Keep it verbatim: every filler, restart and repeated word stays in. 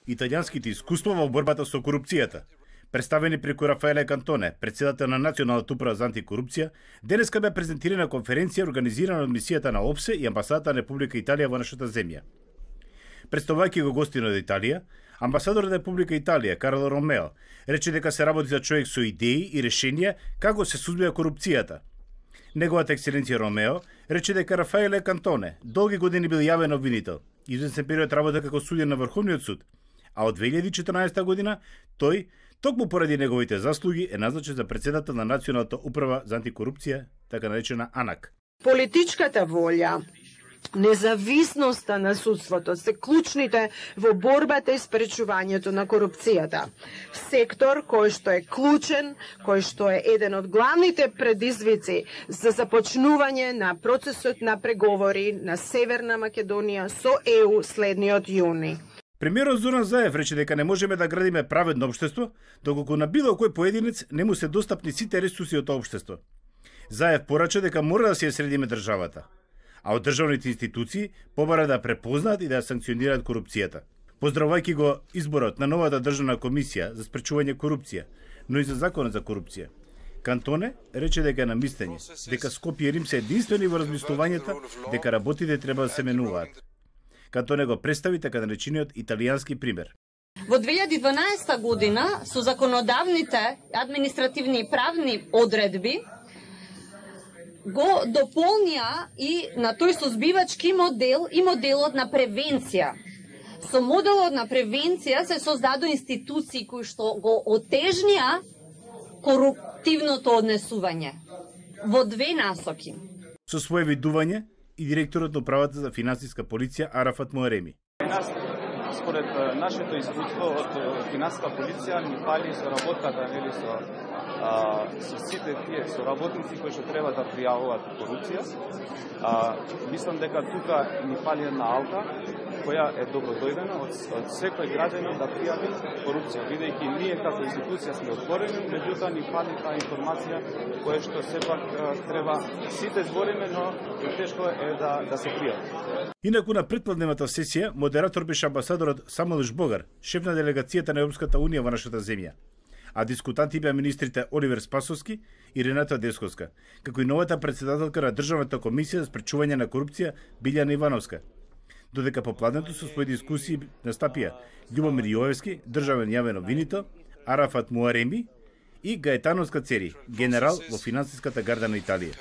италијанските искуства во борбата со корупцијата. Представени преку Рафаеле Кантоне, председател на Националната управа за антикорупција, денеска бе презентирана конференција организирана од мисијата на ОПСЕ и амбасадата на Република Италија во нашата земја. Представувајќи го гостинот од Италија, амбасадорот на Република Италија, Карло Ромео, рече дека се работи за човек со идеи и решенија како се сузбива корупцијата. Неговата екселенција Ромео рече дека Рафаеле Кантоне долги години бил јавен обвинител, известен период работа како судија на Врховниот суд, а од две илјади и четрнаесета година тој, токму поради неговите заслуги, е назначен за председател на Националната управа за антикорупција, така наречена АНАК. Политичката волја, независноста на судството се клучните во борбата и спречувањето на корупцијата. Сектор кој што е клучен, кој што е еден од главните предизвици за започнување на процесот на преговори на Северна Македонија со Е У следниот јуни. Премиерот Зоран Заев рече дека не можеме да градиме праведно општество, доколку на било кој поединец не му се достапни сите ресурси од тоа општество. Заев порача дека мора да се ја средиме државата, а од државните институции побара да препознаат и да санкционираат корупцијата. Поздравувајќи го изборот на новата државна комисија за спречување корупција, но и за законот за корупција, Кантоне рече дека е на мислење дека Скопје и Рим се единствени во размислувањата дека работите треба да се менуваат. Кантоне го представи така наречениот италијански пример. Во две илјади и дванаесета година со законодавните, административни и правни одредби го дополнија и на тој созбивачки модел и моделот на превенција. Со моделот на превенција се создадо институции кои што го отежнија коруптивното однесување во две насоки. Со свое видување и директорот на управата за финансиска полиција Арафат Муареми. Според нашето искуство од финансиска полиција ни фали со работата нели со а, со сите тие со работници кои што треба да пријавуваат корупција. А, мислам дека тука ни фали една алка која е добродојдена од, од секој граѓанин да пријави корупција, бидејќи ние како институција сме отворени, меѓутоа ни фали таа информација која што сепак треба сите збориме, но тешко е да да се пријави. Инаку на претпладневата сесија модератор беше амбасадорот Самуел Жбогар, шеф на делегацијата на Европската унија во нашата земја, а дискутанти беа министрите Оливер Спасовски и Рената Десковска, како и новата председателка на Државната комисија за спречување на корупција Билјана Ивановска. Додека по пладнето со своји дискусии настапија Љубомир Јовевски, државен јавен обвинител, Арафат Муареми и Гаетано Скацери, генерал во финансиската гарда на Италија.